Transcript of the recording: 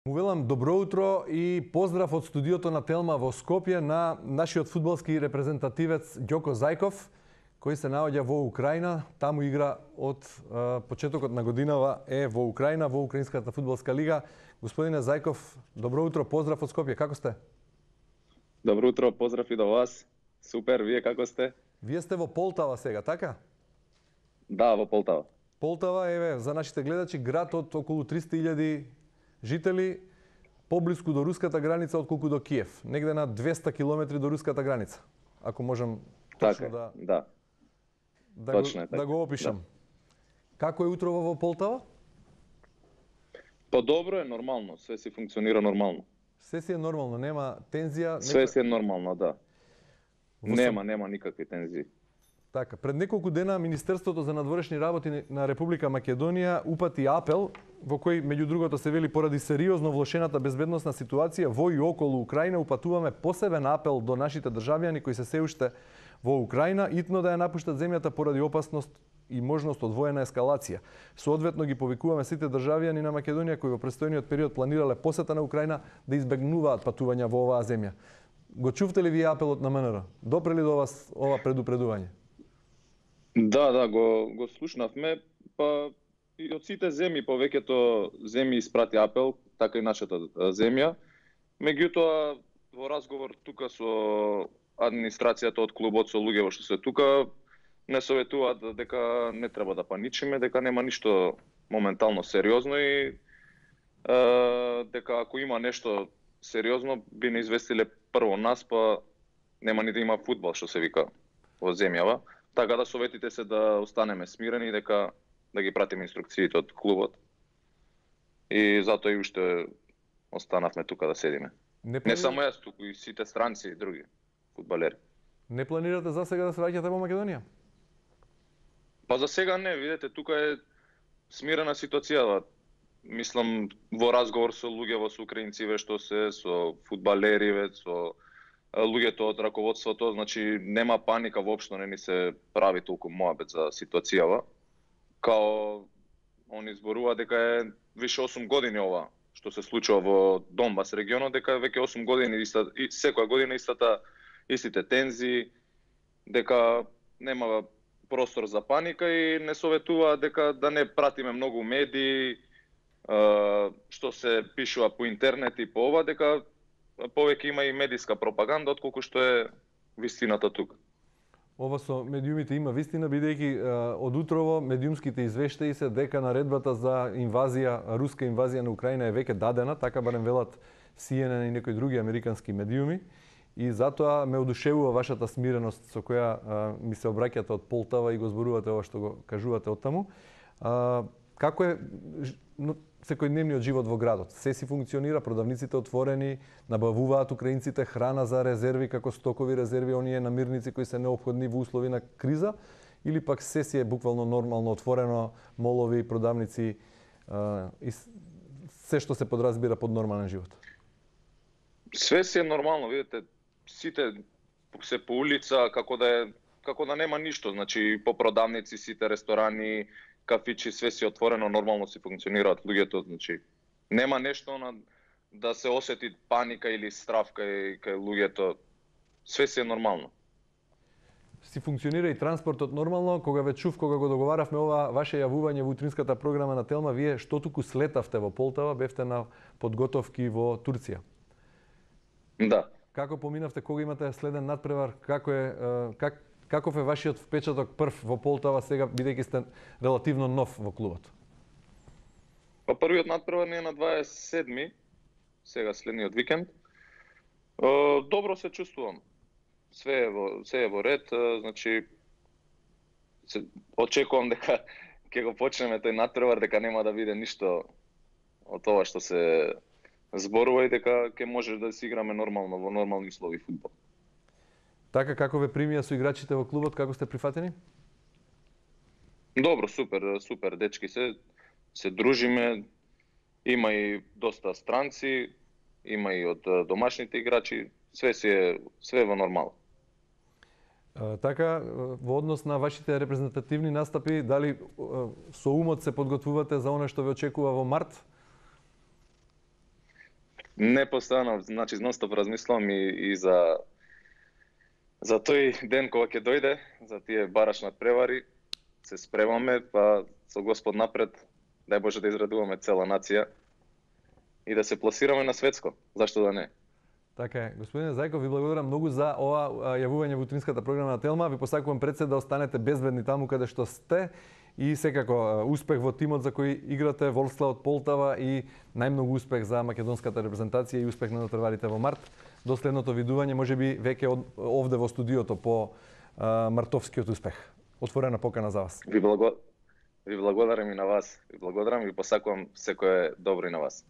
Велам добро утро и поздрав од студиото на Телма во Скопје на нашиот фудбалски репрезентативец Ѓоко Зајков, кој се наоѓа во Украина. Таму игра од почетокот на годинава е во Украина, во Украинската фудбалска лига. Господине Зајков, добро утро, поздрав од Скопје, како сте? Добро утро, поздрав и до вас. Супер, вие како сте? Вие сте во Полтава сега, така? Да, во Полтава. Полтава е, за нашите гледачи, град од околу 300.000 жители, поблиску до руската граница отколку до Киев. Негде на 200 километри до руската граница. Ако можам точно така, да го опишам. Да. Како е утрово во Полтава? Па добро е, нормално. Све си функционира нормално. Се си е нормално, нема тензија? Све си е нормално, да. Нема никакви тензии. Така, пред неколку дена Министерството за надворешни работи на Република Македонија упати апел во кој меѓу другото се вели поради сериозно влошената безбедносна ситуација во и околу Украина упатуваме посебен апел до нашите државјани кои се уште во Украина итно да ја напуштат земјата поради опасност и можност од воена ескалација. Соодветно ги повикуваме сите државјани на Македонија кои во престојниот период планирале посета на Украина да избегнуваат патувања во оваа земја. Го чувте ли вие апелот на МНР? Допрели до вас ова предупредување? Да, го слушнавме, па и од сите земји, повеќето земји испрати апел, така и нашата земја. Меѓутоа, во разговор тука со администрацијата од клубот, со луѓето што се тука, не советуваат дека не треба да паничиме, дека нема ништо моментално сериозно и дека ако има нешто сериозно, би не известиле прво нас, па нема ни да има фудбал, што се вика во земјава. Така да советите се да останеме смирени и дека да ги пратиме инструкциите од клубот. И затоа и уште останавме тука да седиме. Не само јас, туку и сите странци и други фудбалери. Не планирате за сега да се враќате во Македонија? Па за сега не, видете, тука е смирена ситуацијата. Мислам, во разговор со луѓе, со украинци, што се, со фудбалери, со луѓето од раководството, значи нема паника воопшто, не ни се прави толку моабет за ситуацијава. Као они зборува дека е више 8 години ова што се случува во Донбас регионот, дека веќе 8 години и секоја година истите тензии, дека нема простор за паника и не советува дека да не пратиме многу медии што се пишува по интернет и по ова, дека повеќе има и медиска пропаганда отколку што е вистината тука. Ова со медиумите има вистина, бидејќи од утрово медиумските извештаи се дека наредбата за инвазија, руска инвазија на Украина е веќе дадена, така барем велат CNN и некои други американски медиуми. И затоа ме одушевува вашата смиреност со која ми се обраќате од Полтава и го зборувате ова што го кажувате од таму. Како е секојдневниот живот во градот? Се си функционира, продавниците отворени, набавуваат украинците храна за резерви, како стокови резерви, оние намирници кои се неопходни во услови на криза, или пак се си е буквално нормално отворено, молови, продавници и се што се подразбира под нормален живот? Све си е нормално, видите, сите се по улица, како да нема ништо, значи по продавници, сите ресторани, кафичи, све си отворено, нормално си функционираат луѓето, значи нема нешто да се осети паника или страв кај луѓето. Све си е нормално. Си функционира и транспортот нормално. Кога го договаравме ова ваше јавување во утринската програма на Телма, вие што туку слетавте во Полтава, бевте на подготовки во Турција. Да. Како поминавте, кога имате следен надпревар, каков е вашиот впечаток прв во Полтава сега, бидејќи сте релативно нов во клубот? Па првиот надпревар не е на 27-ми, сега следниот викенд. Добро се чувствувам. Све е во ред, значи очекувам дека ќе го почнеме тој надпревар, дека нема да биде ништо од тоа што се зборува и дека ќе можеш да си играме нормално во нормални услови фудбал. Така, како ве примија со играчите во клубот, како сте прифатени? Добро, супер, дечки се дружиме. Има и доста странци, има и од домашните играчи, све во нормално. Така, во однос на вашите репрезентативни настапи, дали со умот се подготвувате за она што ве очекува во март? Не постојано, значи нон-стоп размислувам и за тој ден кога ќе дојде, за тие бараш надпревари, се спремаме, па со Господ напред, дај Боже да израдуваме цела нација и да се пласираме на светско. Зашто да не? Така е. Господине Зајков, ви благодарам многу за ова јавување во утринската програма на Телма. Ви посакувам пред се да останете безбедни таму каде што сте и секако успех во тимот за кој играте, Волслав од Полтава, и најмногу успех за македонската репрезентација и успех на натпреварите во март. До следното видување, можеби веќе овде во студиото по мартовскиот успех. Отворена покана за вас. Ви благодарам и на вас. Ви благодарам и посакувам секое добро и на вас.